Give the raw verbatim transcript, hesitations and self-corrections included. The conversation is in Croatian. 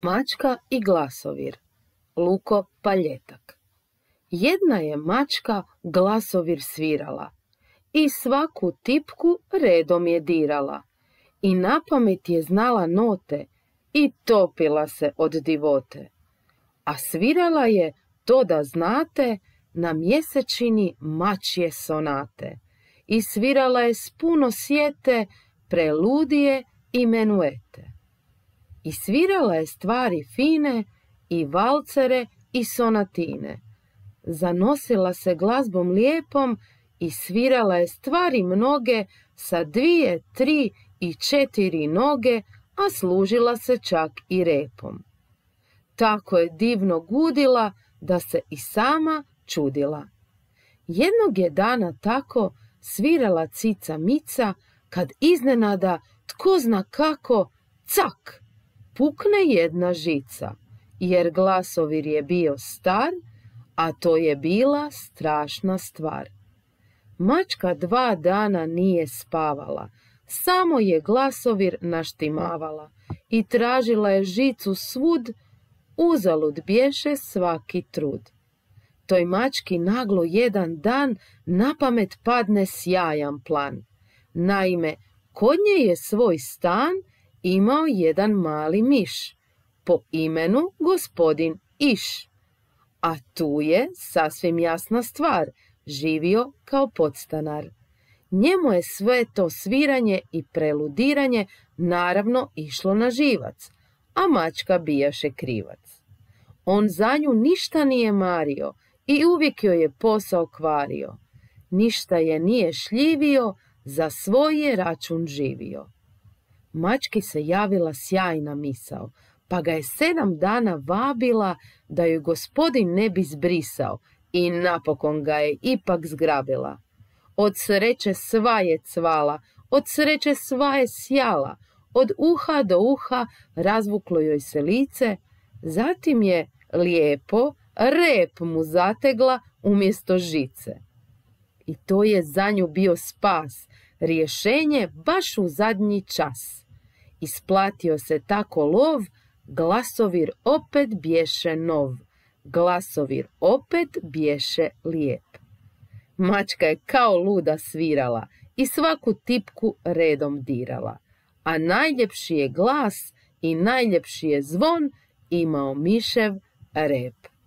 Mačka i glasovir. Luko Paljetak. Jedna je mačka glasovir svirala i svaku tipku redom je dirala i napamet je znala note i topila se od divote. A svirala je, to da znate, na mjesečini mačje sonate i svirala je s puno sjete preludije i menuete. I svirala je stvari fine i valcere i sonatine. Zanosila se glazbom lijepom i svirala je stvari mnoge sa dvije, tri i četiri noge, a služila se čak i repom. Tako je divno gudila da se i sama čudila. Jednog je dana tako svirala cica Mica, kad iznenada, tko zna kako, cak, pukne jedna žica, jer glasovir je bio star, a to je bila strašna stvar. Mačka dva dana nije spavala, samo je glasovir naštimavala i tražila je žicu svud, uzalud bješe svaki trud. Toj mački naglo jedan dan napamet padne sjajan plan. Naime, kod nje je svoj stan imao jedan mali miš, po imenu gospodin Iš. A tu je, sasvim jasna stvar, živio kao podstanar. Njemu je sve to sviranje i preludiranje naravno išlo na živac, a mačka bijaše krivac. On za nju ništa nije mario i uvijek joj je posao kvario. Ništa je nije šljivio, za svoj je račun živio. Mački se javila sjajna misao, pa ga je sedam dana vabila da joj gospodin ne bi zbrisao i napokon ga je ipak zgrabila. Od sreće sva je cvala, od sreće sva je sjala, od uha do uha razvuklo joj se lice, zatim je lijepo rep mu zategla umjesto žice. I to je za nju bio spas, rješenje baš u zadnji čas. Isplatio se tako lov, glasovir opet bješe nov, glasovir opet bješe lijep. Mačka je kao luda svirala i svaku tipku redom dirala, a najljepši je glas i najljepši je zvon imao mišev rep.